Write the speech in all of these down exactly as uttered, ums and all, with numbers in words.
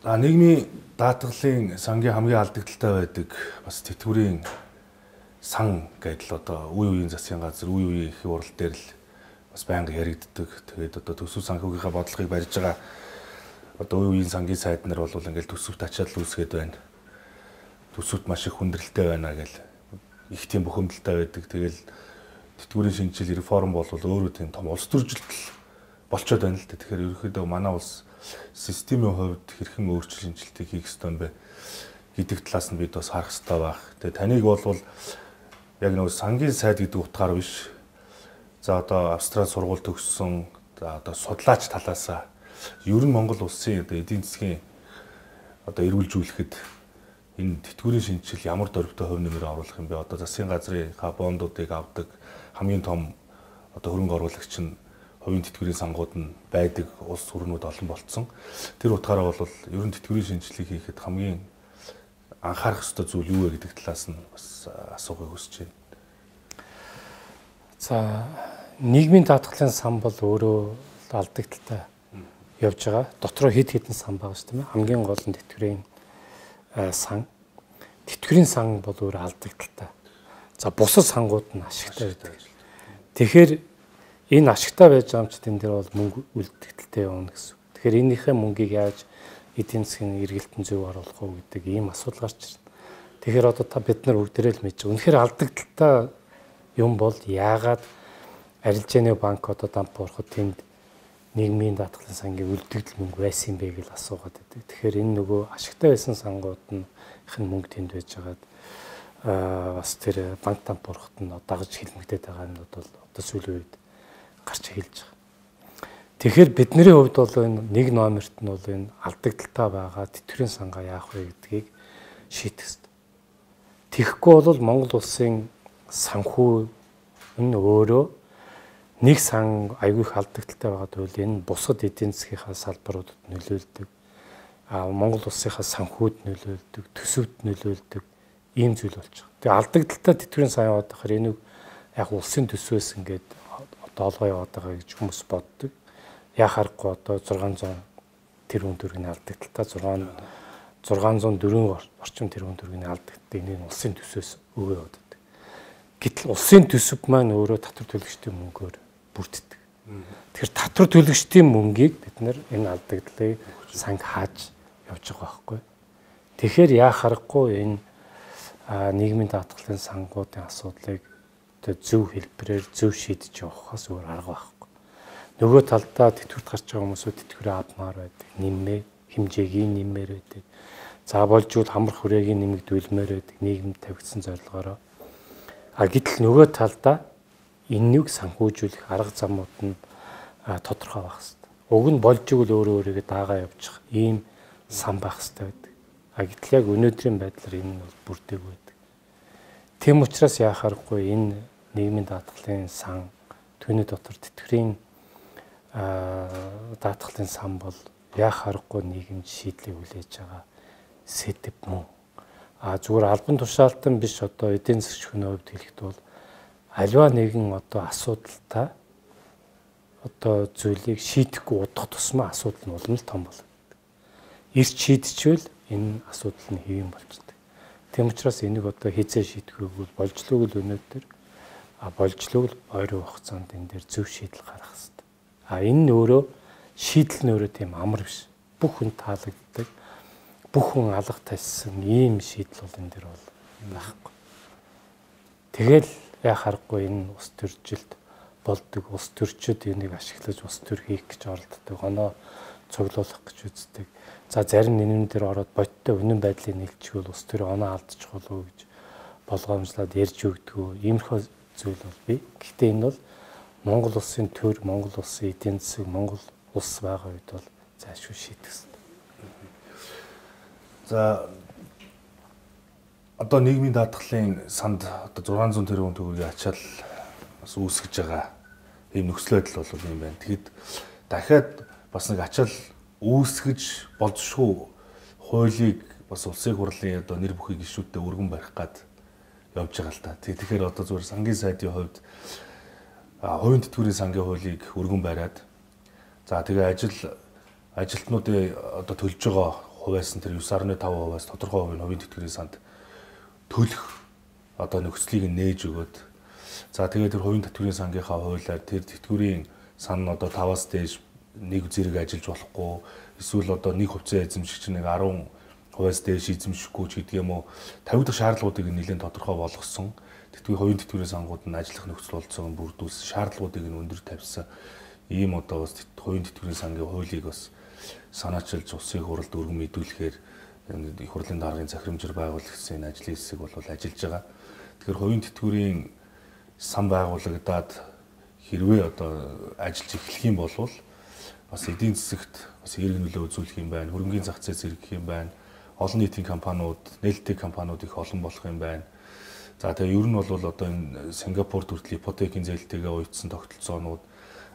За нийгмийн даатгалын сангийн хамгийн алдагдaltaй байдаг бас тэтгэврийн сан гэдэл одоо үе үеийн засгийн газар үе үеийн их урал дээр л бас байнга яригддаг. Тэгээд одоо төсөв санхүүгийнхаа бодлогыг барьж байгаа одоо үе үеийн сангийн сайд нар бол ингээл төсөвт ачаал үүсгээд байна. Төсөвт маш их хүндрэлтэй байна гэл их тийм бухимдалтай байдаг. Тэгэл тэтгэврийн шинжил реформ бол өөрөө тийм том улс төржилт болчиход байна л дээ. Тэгэхээр ерөнхийдөө манай улс системийн хувьд хэрхэн өөрчлөлт шинжилтийг хийх ёстой юм бэ гэдэг талаас нь бид бас харах ёстой байх. Тэгээ таныг бол яг нэг сангийн сайд гэдэг утгаар биш. За одоо Австрали сургууль төгссөн за одоо судлаач талаасаа ер нь Монгол улсын одоо эдийн засгийн одоо эрүүлжүүлэхэд энэ тэтгэврийн шинжил ямар дөрвтэй хувь нэмэр оруулах юм бэ? Одоо засгийн газрын бондуудыг авдаг хамгийн том одоо хөрөнгө оруулагч нь хувийн тэтгэврийн сангууд нь байдаг улс төрнүүд олон болцсон. Тэр утгаараа бол ер нь тэтгэврийн шинжилгээг хийхэд хамгийн анхаарах ёстой зүйл юу вэ гэдэг талаас нь бас асуухыг хүсэж байна. За нийгмийн даатгалын сан бол өөрөө алдагдaltaй явж байгаа. Дотроо хэд хэдэн сан байгаа шүү дээ. Хамгийн гол нь тэтгэврийн сан. Тэтгэврийн сан бол өөрөө алдагдaltaй. За бусад сангууд нь ашигтай байдаг. Тэгэхээр энэ ашигтай байж байгаа юм чи тэн дээр бол мөнгө үлдэгдэлтэй явна гэсэн. Тэгэхээр энийхээ мөнгийг яаж эдийн засгийн эргэлтэн зөв оруулах уу гэдэг ийм асуудал гарч ирнэ. Тэгэхээр одоо та бид нар бүгдээрээ л мэдж байгаа. Үнэхээр алдагдaltaй юм бол яагаад арилжааны банк одоо дамп буурахад тэнд нийгмийн даатгалын сангийн үлдэгдэл мөнгө байсан юм бэ гэж асуугаад байдаг. Тэгэхээр энэ нөгөө ашигтай байсан сангууд нь их нь мөнгө тэнд байж байгаад аа бас тэр банк дамп буурахад нь дагаж хилмигдээд байгаа нь бол одоо сүүлийн үед гарч эхэлж байгаа. Тэгэхээр бидний хувьд бол энэ нэг номерт нь бол энэ алдагдaltaй байгаа тэтгэврийн сангаа яах вэ гэдгийг шийдэх хэрэгтэй. Тэгэхгүй бол Монгол улсын санхүү энэ өөрөө нэг сан аягүй их алдагдaltaй байгаа бол энэ бусад эдийн засгийнхаа салбаруудад нөлөөлдөг. А Монгол улсынхаа санхүүд нөлөөлдөг, төсөвт нөлөөлдөг ийм зүйл болж байгаа. Тэгээ алдагдaltaй тэтгэврийн сан яваад байхаар энийг яг улсын төсвөөс ингээд доолгоо яваад байгаа гэж хүмүүс боддог. Яа харахгүй одоо зургаан зуун тэрбум төгрөгийн алдагдaltaй зургаан зуун дөрвөн орчим тэрбум төгрөгийн алдагдaltaй энийг улсын төсвөөс өгөө яваад байдаг. Гэтэл улсын төсөв маань өөрөө татвар төлөгчдийн мөнгөөр бүрддэг. Тэгэхээр татвар төлөгчдийн мөнгийг бид нар энэ алдагдлыг санг хааж явж байгаа байхгүй. Тэгэхээр яа харахгүй энэ нийгмийн даатгалын сангуудын асуудлыг зөв хэлбэрээр зөв шийдэж явахаас өөр арга байхгүй. Нөгөө талдаа тэтгэврт гарч байгаа хүмүүсүүд тэтгэврээ авмаар байдаг, нэмээ, хэмжээгийн нэмээр байдаг. За болж үл хамар хүрээгийн нэмэгдүүлмээр байдаг, нийгэмд тавигдсан зорилгоороо. А гэтэл нөгөө талдаа энэнийг санхүүжүүлэх арга замууд нь тодорхой байх хэрэгтэй. Уг нь болж игэл өөрөө өөрийгөө даагаа явуучих ийм сан байх хэрэгтэй байдаг. А гэтэл яг өнөөдрийн байдлаар энэ нь бол бүрдээгүй байдаг. Тэм учраас яахааргүй энэ нийгмийн даатгалын сан түүний дотор тэтгэврийн даатгалын сан бол яах аргагүй нийгэмд шийдлийг хүлээж байгаа сэдэв мөн. А зүгээр албан тушаалтан биш одоо эдийн засгийн хувьд хэлэхэд бол аливаа нэгэн одоо асуудалтай одоо зүйлийг шийдэхгүй удах тусмаа асуудал нь улам л том болдог. Ирж шийдчихвэл энэ асуудал нь хэвэн болждаг. Тэм учраас энийг одоо хизээ шийдэхгүй болжлог л өнөөдөр а болжлог л ойрын хугацаанд энэ дээр зөв шийдэл гаргах хэрэгтэй. А энэ нь өөрөө шийдэл нь өөрөө тийм амар биш. Бүх хүн таалагддаг. Бүх хүн алга тассан ийм шийдэл бол энэ дээр бол байхгүй. Тэгэл яа харахгүй энэ ус төржилт болдог. Ус төрчид энийг ашиглаж ус төр хийх гэж оролддог. Оноо цуглуулах гэж үздэг. За зарим нэмэн дээр ороод бодтой үнэн байдлыг нийлчихвэл ус төр оноо алдчих болов уу гэж болгоомжлоод ярьж өгдөг. Иймэрхүү зүйл бол бий. Гэхдээ энэ бол Монгол улсын төр, Монгол улсын эдийн засаг, Монгол улс байгаа үед бол зайлшгүй шийдэх хэрэгтэй. За одоо нийгмийн даатгалын санд одоо зургаан зуун тэрбум төгрөгийн ачаал бас үүсгэж байгаа ийм нөхцөл байдал бол юм байна. Тэгэхэд дахиад бас нэг ачаал үүсгэж болзошгүй хуулийг бас улсын хурлын одоо нэр бүхий гишүүдтэй өргөн барих гад явж байгаа л та. Тэгэхээр одоо зүгээр сангийн сайдын хувьд хувийн тэтгэврийн сангийн хуулийг өргөн бариад за тэгээ ажил ажилтнуудын одоо төлж байгаа хувиас нь тэр девять дасам пять хувиас тодорхой хувийн хувийн тэтгэврийн санд төлөх одоо нөхцөлийг нээж өгөөд за тэгээд тэр хувийн тэтгэврийн сангийнхаа хуулиар тэр тэтгэврийн сан нь одоо таваас дээш нэг зэрэг ажиллаж болохгүй эсвэл одоо нэг хувьцаа эзэмшигч нэг арван хувиас дээш эзэмшихгүй ч гэдэг юм уу тавигдах шаардлагуудыг нэлээд тодорхой болгосон тэтгэврийн хувийн тэтгэврийн сангууд нь ажиллах нөхцөл болцоог бүрдүүлсэн шаардлагуудыг нь өндөр тавьсан ийм одоо бас хувийн тэтгэврийн сангийн хуулийг бас санаачилж улсын хурлд өргөн мэдүүлэхээр их хурлын даргын захирамжаар байгуулагдсан энэ ажлын хэсэг бол ажиллаж байгаа. Тэгэхээр хувийн тэтгэврийн сан байгуулагдаад хэрвээ одоо ажиллаж эхлэх юм бол бас эдийн засагт бас эерэг нөлөө үзүүлэх юм байна. Хөрөнгөний зах зээл зэрэгэх юм байна. Олон нийтийн компаниуд, нээлттэй компаниуд их олон болох юм байна. За тэгээ ер нь бол одоо энэ Сингапурт хүртэл ипотекийн зээлтэйгээ уйдсан тогтолцоонууд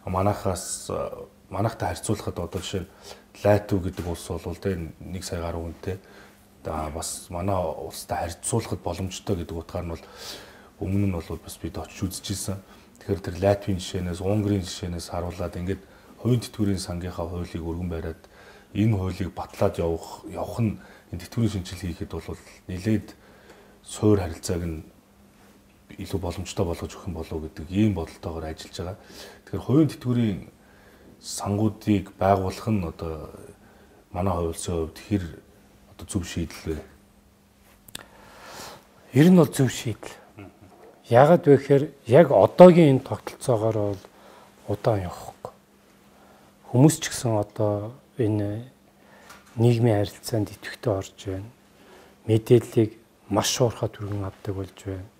манайхаас манайхтай харьцуулахад одоо жишээ нь Латви гэдэг улс бол тэ нэг сая гаруй хүнтэй да бас манай улстай харьцуулахад боломжтой гэдэг утгаар нь бол өмнө нь бол бас бид очиж үзчихсэн. Тэгэхээр тэр Латвийн жишээнээс, Унгарийн жишээнээс харуулад ингээд хувийн тэтгэврийн сангийнхаа хуулийг өргөн бариад энэ хуулийг батлаад явах явах нь энэ тэтгэврийн шинжилгээ хийхэд бол нэлээд суур харилцааг нь илүү боломжтой болгож өгөх юм болов уу гэдэг ийм бодолтойгоор ажиллаж байгаа. Тэгэхээр хувийн тэтгэврийн сангуудыг байгуулах нь одоо манай хувьсийн хувьд хэр одоо зөв шийдэл вэ? Ер нь бол зөв шийдэл. Яагаад вэ гэхээр яг одоогийн энэ тогтолцоогоор бол удаан явахгүй. Хүмүүс ч гэсэн одоо энэ нийгмийн харилцаанд идэвхтэй орж байна. Мэдээллийг маш уурхай түргэн авдаг болж байна.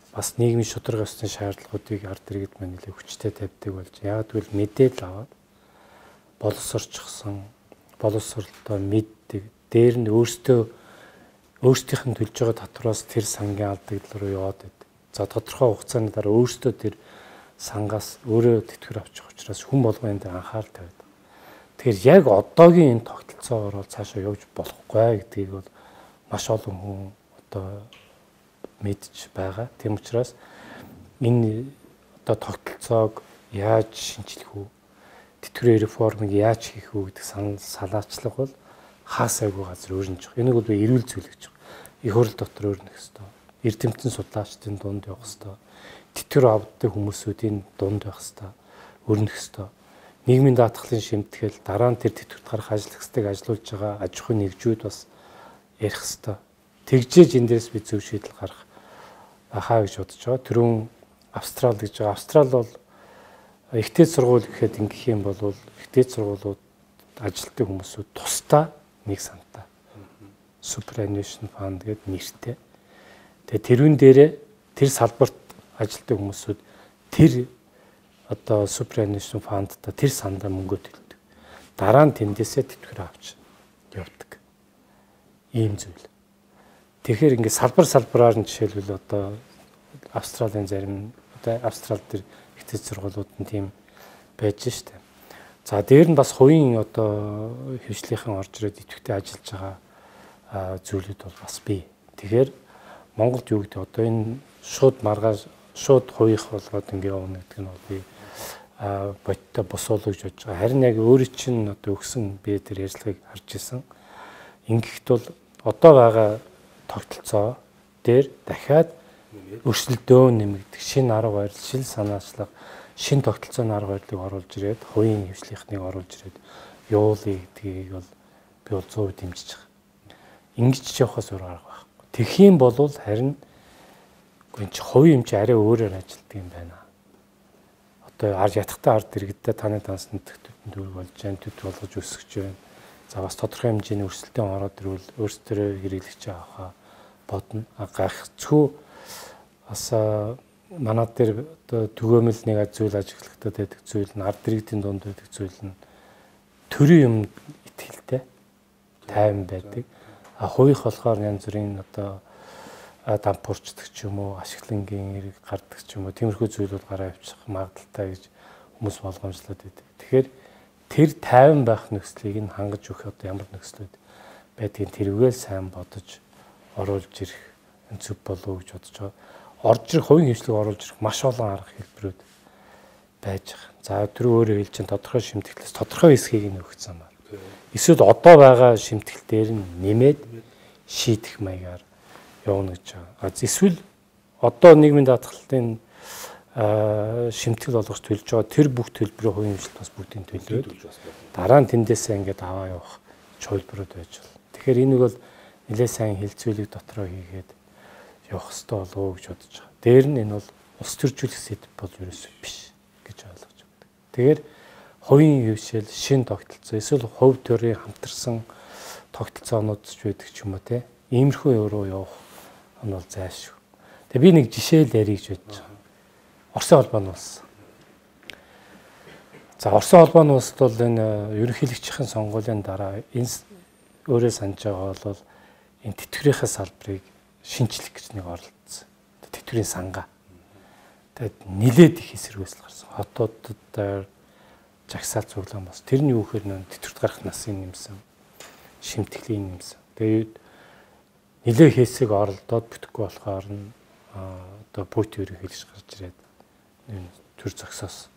Бас нийгмийн шударга ёсны шаардлагуудыг ард иргэд маань нэлээд хүчтэй тавьдаг болж. Яг тэгвэл мэдээлэл аваад боловсрчсан, боловсролтой мэддэг. Дээр нь өөртөө өөртөөх нь төлж байгаа татвараас тэр сангийн алдагдлал руу яваад байд. За тодорхой хугацааны дараа өөртөө тэр сангаас өөрөө тэтгэвэр авчих учраас хүн болгоны дээр анхаарал тавиад. Тэгэхээр яг одоогийн энэ тогтолцоогоор бол цаашаа явж болохгүй гэдгийг бол маш олон хүн одоо мэдж байгаа. Тийм учраас энэ одоо тогтолцоог яаж шинжлэх үү? Тэтгэврийн реформыг яаж хийх үү гэдэг санал салаачлах бол хаасайгүй газар өөрнөж байгаа. Энийг бол би эрүүл зүйл гэж байгаа. Их хурл дотор өөрнөх ёстой. Эрдэмтэн судлаачдын дунд явах ёстой. Тэтгэвэр авдаг хүмүүсүүдийн дунд байх ёстой. Өрнөх ёстой. Нийгмийн даатгалын шимтгэл дараа нь тэр тэтгэврт гарах ажил хэсгийг ажилуулж байгаа аж ахуйн нэгжүүд бас ярих ёстой. Тэгжээж энэ дээрс би зөв шийдэл гарах ахаа гэж бодож байгаа. Түрүүн Австрал гэж байгаа. Австрал бол ихтэй сургууль гэхэд ингэх юм бол ихтэй сургуулиуд ажилтдаг хүмүүсүүд тусдаа нэг сантаа. Superannuation Fund гэдэг нэртэй. Тэгээ тэрүүн дээрээ тэр салбарт ажилтдаг хүмүүсүүд тэр одоо Superannuation Fund-та тэр сандаа мөнгө төлдөг. Дараа нь тэндээсээ тэтгэвэр авч явдаг. Ийм зүйл. Тэгэхээр ингээд салбар салбараар нь жишээлбэл одоо Австралийн зарим одоо Австрал дээр ихтэй сургуулиуд нь тийм байж штэ. За дээр нь бас хувийн одоо хвшлийнхэн орж ирээд идэвхтэй ажиллаж байгаа зүйлүүд бол бас бий. Тэгэхээр Монголд юу гэдэг одоо энэ шууд маргааш шууд хувийнх болгоод ингээд явна гэдэг нь бол би бодтой босоолоо гэж бодож байгаа. Харин яг өөрөө чинь одоо өгсөн би тэр ярьцлагыг харж исэн. Ингэхт бол одоо байгаа тогтолцоо дээр дахиад өрсөлдөөн нэмэгдэх шинэ арга барил, шил санаачлага, шинэ тогтолцооны арга барилыг оруулж ирээд хувийн хвшлийнхныг оруулж ирээд явуулъя гэдгийг бол би бол зөөр дэмжиж байгаа. Ингэж ч явахаас өөр арга байхгүй. Тэгэх юм бол харин энэ чи хувийн хэмжээ арай өөрөөр ажилтдаг юм байна. Одоо ард ятгахтай ард иргэдтэй таны дансны төвтөнд дүр болж जैन төв болгож өсгөж байна. За бас тодорхой хэмжээний өрсөлдөөн ороод ирвэл өөрсдөө хэрэглэж авахаа бодно. Гайхацгүй бас манай дээр одоо түгээмэл нэг зүйл ажиглагдаад байдаг зүйл нь ард иргэдийн дунд байдаг зүйл нь төрийн юм итгэлтэй тайван байдаг. А хувийнх болохоор янз бүрийн одоо дампуурчдаг ч юм уу, ашиглангийн эрэг гардаг ч юм уу, тиймэрхүү зүйлүүд гараа авчих магадaltaй гэж хүмүүс болгоомжлоод байдаг. Тэгэхээр тэр тайван байх нөхцөлийг нь хангаж өгөх одоо ямар нөхцлүүд байдгийг тэрүүгээр сайн бодож оруулж ирэх зөв болов гэж бодож байгаа. Орж ирэх хувийн хвшлийг оруулж ирэх маш олон арга хэлбэрүүд байж байгаа. За тэр өөрөө хэлж чинь тодорхой шимтгэлээс тодорхой хэсгийг нь өгсөн байна. Эсвэл одоо байгаа шимтгэл дээр нь нэмээд шийдэх маягаар явна гэж байгаа. Эсвэл одоо нийгмийн даатгалын шимтгэл болгож төлж байгаа тэр бүх төлбөрийн хувийн хэмжлэлт бас бүгдийг төлөөд дараа нь тэндээсээ ингээд аваа явах чөлбөрүүд байж болно. Тэгэхээр энийг бол нэлээд сайн хилцүүлэг дотроо хийгээд явах хэрэгтэй болов уу гэж бодож байгаа. Дээр нь энэ бол улс төржүүлэх сэдв бол ерөөсөө биш гэж ойлгож байна. Тэгэхээр хувийн хөвшил, шин тогтолцоо, эсвэл хувь төрийн хамтарсан тогтолцоонууд ч байдаг ч юм уу те. Иймэрхүү руу явах нь бол зайлшгүй. Тэгээ би нэг жишээ л ярих гэж бодож байгаа. Оросын холбооны улс. За Оросын холбооны улсд бол энэ ерөнхийлөгчийн сонгуулийн дараа энэ өөрөө санаж байгаа бол энэ тэтгэврийнхээ салбарыг шинжлэх гэж нэг оролцсон. Тэтгэврийн сангаа. Тэгээд нилээд их эсэргүүцэл гарсан. Хотуудад жагсаал цуглаан бас. Тэрний юу гэхээр нөө тэтгэврт гарах насын нэмсэн. Шимтгэлийн нэмсэн. Тэгээд нилээ хэсэг оролдоод бүтэхгүй болохоор нь одоо Путин ерөнхийлөгч гарч ирээд энэ төр зогсоос.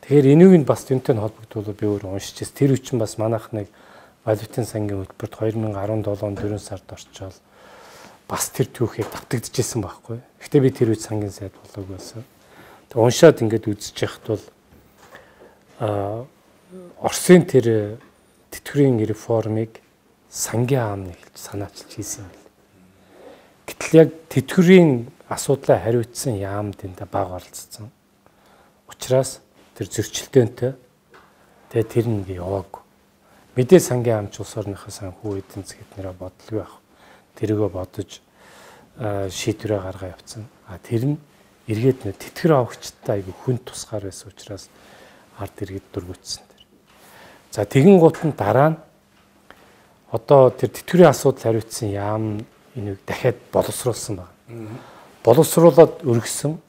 Тэгэхээр энийг нь бас тэнтэй холбогдуулаад би өөр уншижээс тэр үчин бас манайх нэг валютын сангийн хөтөлбөрт две тысячи десять он дөрвөн сард орчоод бас тэр түүхийг давтагдчихсан байхгүй. Гэхдээ би тэр үе сангийн сайд болоогүй байсан. Тэг уншаад ингээд үзэж яхад бол а Оросын тэр тэтгэврийн реформыг сангийн аамны хэлж санаачилж хийсэн юм. Гэтэл яг тэтгэврийн асуудлаа хариуцсан яамд энэ баг оролцсон. Учираас тэр зөрчилдөөнтэй тэгээ тэр нэг яваагүй. Мэдээ сангийн амч улс орныхоо санхүү эдийн засгийн нэрэ бодлого байх. Тэрийгөө бодож шийдвэрээ гаргаа явцсан. А тэр нь эргээд нэ тэтгэр авахчтай айгүй хүн тусгаар байсан учраас ард иргэд дургуутсан тэр. За тэгин гут нь дараа нь одоо тэр тэтгэврийн асуудал хариуцсан яам энийг дахиад боловсруулсан байна. Боловсруулаад өргөсөн.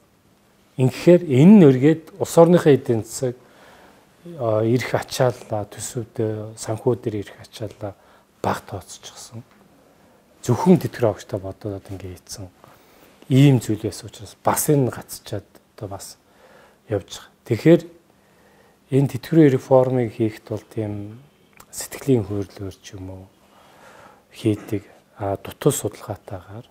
Инхээр энэ нь өргээд улс орныхоо эдийн засаг ирэх ачааллаа төсөвд санхүү дээр ирэх ачааллаа баг тооцчихсон. Зөвхөн тэтгэр авахтай бодоод ингэ хийцэн ийм зүйл байсан учраас бас энэ гацчаад одоо бас явж байгаа. Тэгэхээр энэ тэтгэврийн реформыг хийхэд бол тийм сэтгэлийн хөөрлөөр ч юм уу хийдэг а дутуу судалгаатайгаар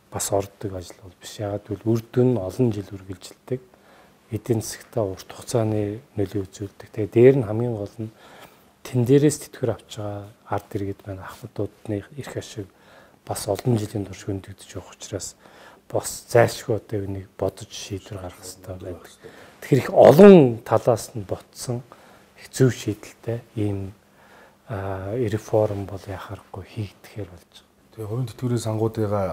бас ордог ажил бол биш. Ягаад гэвэл үр дүн олон жил үргэлжилдэг. Эдийн засгтаа урт хугацааны нөлөө үзүүлдэг. Тэгээ дээр нь хамгийн гол нь тэн дээрээс тэтгэвэр авч байгаа ард иргэд маань ахмадуудны эрх ашиг бас олон жилийн турш хөндөгдөж явах учраас бас зайлшгүй одоо энийг бодож шийдвэр гаргах хэрэгтэй байдаг. Тэгэхээр их олон талаас нь ботсон их зөв шийдэлтэй ийм реформ бол яхахгүй хийгдэхээр болж байгаа. Тэгээ хувийн тэтгэврийн сангуудыгаа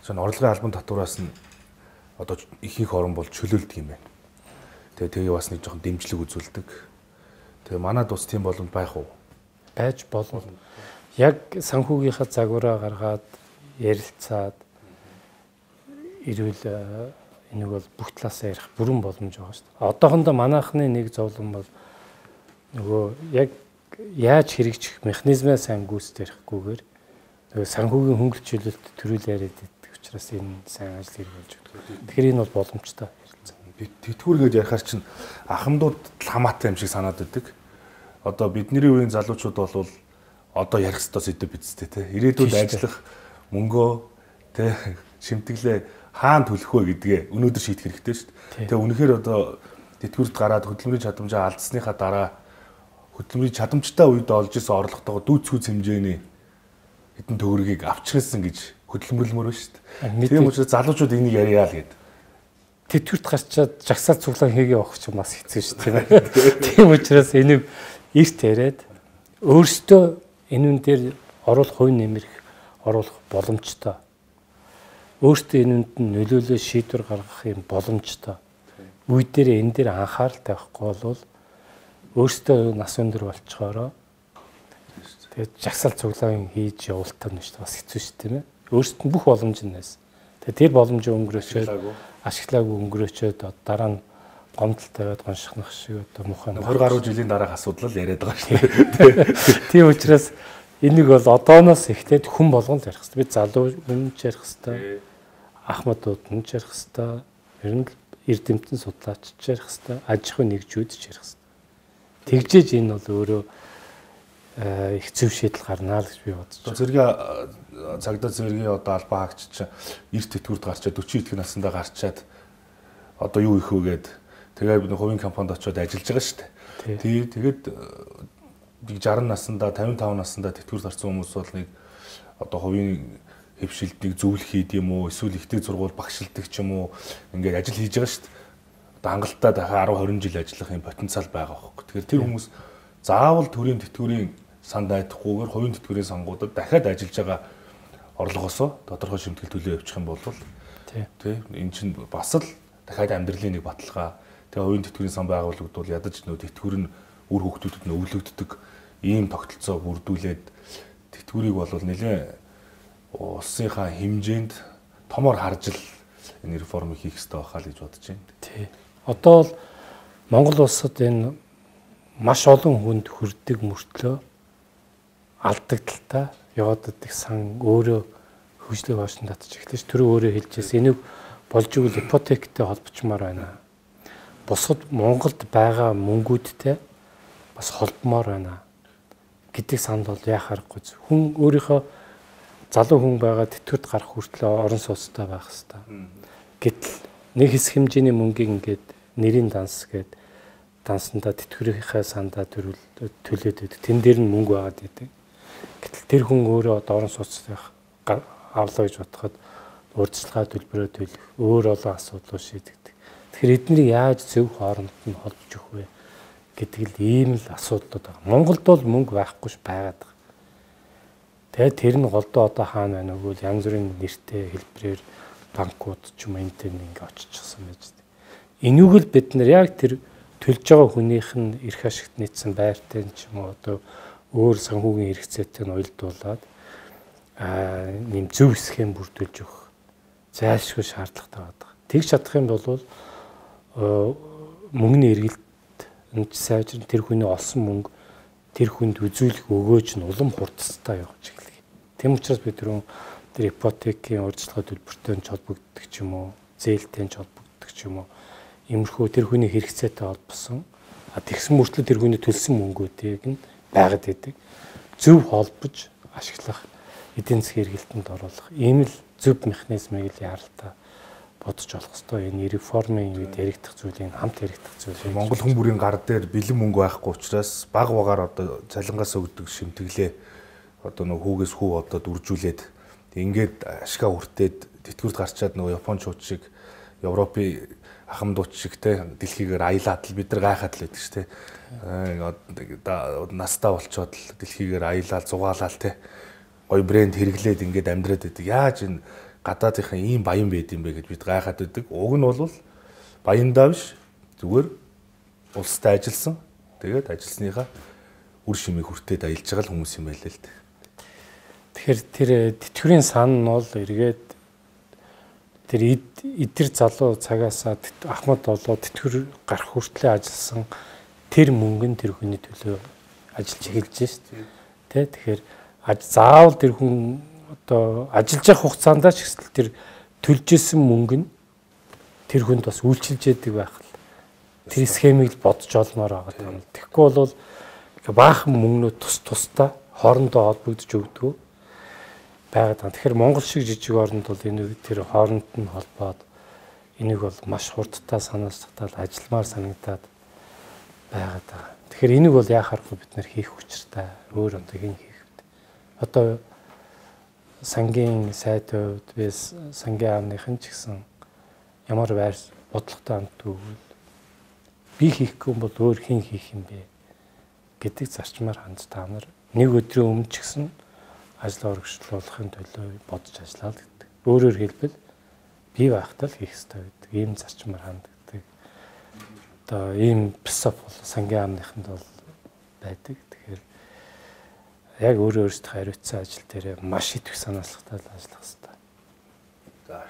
чинь орлогын албан татвараас нь одоо ихэнх орн бол чөлөөлдөг юм байна. Тэгээ тэгээ бас нэг жоохон дэмжлэг үзүүлдэг. Тэгээ манад ус тийм боломж байх уу? Байж болно. Яг санхүүгийнхаа загвараа гаргаад ярилцаад ирвэл энийг бол бүх талаасаа ярих бүрэн боломж байгаа шүү дээ. Одоохондоо манайхны нэг зовлон бол нөгөө яг яаж хэрэгжих механизмаа сайн гүйцэтгөхгүйгээр нөгөө санхүүгийн хөнгөлөлт чөлөөлт төрүүл яриад байдаг учраас энэ сайн ажил хэрэг болж байгаа. Тэгэхээр энэ бол боломжтой. Тэтгэвэр гэж ярихаар чинь ахмадууд хамаатай юм шиг санаад байдаг. Одоо бидний үеийн залуучууд бол одоо ярих ёстой сэдв бидтэй те. Ирээдүйд ажиллах мөнгөө те шимтгэлээ хаана төлөх вэ гэдгээ өнөөдөр шийдэх хэрэгтэй шүү дээ. Тэгээ үнэхээр одоо тэтгэврт гараад хөдөлмөрийн чадамжаа алдсныхаа дараа хөдөлмөрийн чадамжтай үед олж исэн орлоготойгоо дүүцгүүц хэмжээний хэдэн төгрөгийг авчирсан гэж хөдөлмөрлөмөр байна шүү дээ. Тийм учраас залуучууд энийг яриа л гэдэг. Тэтгэврт гарчаад жагсаал цуглаан хийгээ явах ч бас хэцүү шүү дээ. Тийм учраас энийг эрт яриад өөрсдөө энүүн дээр оруулах хувь нэмэрх оруулах боломжтой. Өөртөө энэнд нь нөлөөлөө шийдвэр гаргах юм боломжтой. Үе дээр энэ дээр анхаарал тавихгүй бол өөртөө нас өндөр болчхороо тэгээд жагсаал цуглаан хийж явуултаа нь шүү дээ бас хэцүү шүү дээ. Өөртөө бүх боломж нь нэс. Тэгээд тэр боломжоо өнгөрөөчөөд ашиглаагүй өнгөрөөчөөд дараа нь гомдол тавиад гоншихнах шиг одоо мухаа двадцать гаруй жилийн дараах асуудал л яриад байгаа шүү дээ. Тийм учраас энийг бол одооноос эхлээд хүн болгон ярих хэрэгтэй. Бид залуу хүн ч ярих хэрэгтэй. Ахмадууд нь ч ярих хэрэгтэй. Ер нь эрдэмтэн судлаач ч ярих хэрэгтэй. Аж ахуйн нэгжүүд ч ярих хэрэгтэй. Тэгжээж энэ бол өөрөө их зөв шийдэл гарнаа л гэж би бодож байна. Зэрэг цагдаа зэргийн одоо албан хаагч чинь эрт тэтгэврт гарчаад forty идэх наснда гарчаад одоо юу их вэ гээд тэгээ хувийн компанид очиод ажиллаж байгаа шүү дээ. Тий тэгээд sixty наснда fifty-five наснда тэтгэврт гарсан хүмүүс бол нэг одоо хувийн хөвшилтийг зөвлөх хийд юм уу эсвэл ихтэй сургууль багшилдаг ч юм уу ингээд ажил хийж байгаа шүү дээ. Одоо хангалттай дахиад ten twenty жил ажиллах юм потенциал байгаа байхгүй. Тэгэхээр тэр хүмүүс заавал төрийн тэтгэврийн санд айдахгүйгээр хувийн тэтгэврийн сангуудад дахиад ажиллаж байгаа орлогоосоо тодорхой шимтгэл төлөө явуучих юм бол тий эн чинь бас л дахиад амьдралын нэг баталгаа. Тэгээ хувийн тэтгэврийн сан байгуулагдвал ядаж нөө тэтгэвэр нь үр хөвгтүүдэд нь өвлөгддөг ийм тогтолцоо бүрдүүлээд тэтгэврийг бол нэлээд улсынхаа хэмжээнд томор харж л энэ реформыг хийх хэрэгтэй байхаа л гэж бодож байна. Тий. Одоо бол Монгол улсад энэ маш олон хүнд хүрдэг мөртлөө алдагдaltaа яваад идэх сан өөрөө хөгжлийг хоосон татж эхлэж тэр өөрөө хэлжээс энийг болж игэл ипотектэй холбочмоор байна. Бусад Монголд байгаа мөнгүүдтэй бас холбомоор байна гэдэг санд бол яах аргагүй. Хүн өөрийнхөө залуу хүн байгаа тэтгэврт гарах хүртлээр орон сууцтай байх хэрэгтэй. Гэтэл нэг хэсэг хэмжээний мөнгийг ингээд нэрийн данс гээд дансандаа тэтгэврийнхээ сандаа төлөөд байдаг. Тэн дээр нь мөнгө байгаад байдаг. Гэтэл тэр хүн өөрөө одоо орон сууцтай авлаа гэж бодоход урьдчилгаа төлбөрөө төлөх өөр олон асуудлууд шийдэгдэг. Тэгэхээр эднийг яаж зөв хооронд нь холбож өгөх вэ гэдэг л ийм л асуудлууд байна. Монголд бол мөнгө байхгүй ш байгаад байгаа. Тэгээд тэр нь голдоо одоо хаана байна вэ? Янз бүрийн нэртэй хэлбэрээр банкуд ч юм энтэй ингээ очичихсан байж дээ. Энийг л бид нар яг тэр төлж байгаа хүнийх нь эрх ашигт нийцсэн байртай ч юм уу одоо өөр санхүүгийн хэрэгцээтэй нь уялдуулаад аа нэм зөв схем бүрдүүлж өгөх зайлшгүй шаардлагатай байдаг. Тэг чадах юм бол мөнгөний эргэлт энэ сайжрын тэр хүний олсон мөнгө тэр хүнд үзүүлэх өгөөж нь улам хурдцтай явж эхэллээ. Тэм учраас бид түрүүн тэр ипотекийн урьдчилгаа төлбөртэй нь холбогддог ч юм уу, зээлтэй нь холбогддог ч юм уу, иймэрхүү тэр хүний хэрэгцээтэй холбосон а тэгсэн мөртлөө тэр хүний төлсөн мөнгүүдийг нь байгаад идэг. Зөв холбож ашиглах, эдийн засгийн эргэлтэнд оруулах ийм л зөв механизмыг л яаралтай бодож олох хэрэгтэй. Энэ реформын үед яригдах зүйлийг хамт яригдах зүйл. Монгол хүн бүрийн гар дээр бэлэн мөнгө байхгүй учраас баг багаар одоо цалингаас өгдөг шимтгэлээ одоо нөгөө хүүгээс хүү одоо үржүүлээд ингээд ашгаа хүртээд тэтгэврт гарчаад нөгөө Япончууд шиг Европын ахмадууд шиг те дэлхийгээр аялаад л бид нар гайхаад л байдаг ш те настаа болчоод л дэлхийгээр аялал зугаалал те гой брэнд хэрэглээд ингээд амьдраад байдаг. Яаж энэ гадаадынхаа ийм баян байд юм бэ гэж бид гайхаад байдаг. Уг нь бол баяндаа биш зүгээр улстай ажилласан. Тэгээд ажилласныхаа үр шимийг хүртээд аялж байгаа л хүмүүс юм байл л дээ. Тэгэхээр тэр тэтгэврийн сан нь бол эргээд тэр эдэр залуу цагаасаа Ахмад болоод тэтгэвэр гарах хүртлээр ажилласан тэр мөнгө нь тэр хүний төлөө ажиллаж эхэлж шээ. Тэ тэгэхээр заавал тэр хүн одоо ажиллаж явах хугацаанд ч гэсэн тэр төлж исэн мөнгө нь тэр хүнд бас үйлчилж яадаг байх л тэр схемийг бодож олмоор байгаа юм. Тэгэхгүй бол баахан мөнгнүүд тус тусдаа хоорондоо холбогдож өгдөг байгаад байна. Тэгэхээр Монгол шиг жижиг оронд бол энэ тэр хооронд нь холбоод энийг бол маш хурдтай санаачтал ажилламаар санагдаад байгаад байгаа. Тэгэхээр энийг бол яах аргагүй бид нэр хийх учиртай. Өөр одоо хэн хийх вэ? Одоо сангийн сайдууд бис сангийн аавныхан ч гэсэн ямар байр бодлоготой амтгүй би хийхгүй бол өөр хэн хийх юм бэ гэдэг зарчмаар ханд та нар нэг өдрийн өмнө ч гэсэн ажил урагшлуулахын төлөө бодож ажиллаад гэдэг. Өөрөөр хэлбэл бий байхдаа л хийх хэрэгтэй гэдэг. Ийм зарчмаар ханддаг. Одоо ийм философи бол сангийн аавныханд бол байдаг. Тэгэхээр яг өөрөө өөрсдөө хариуцсан ажил дээр маш их санаачлахтай ажиллах хэрэгтэй. За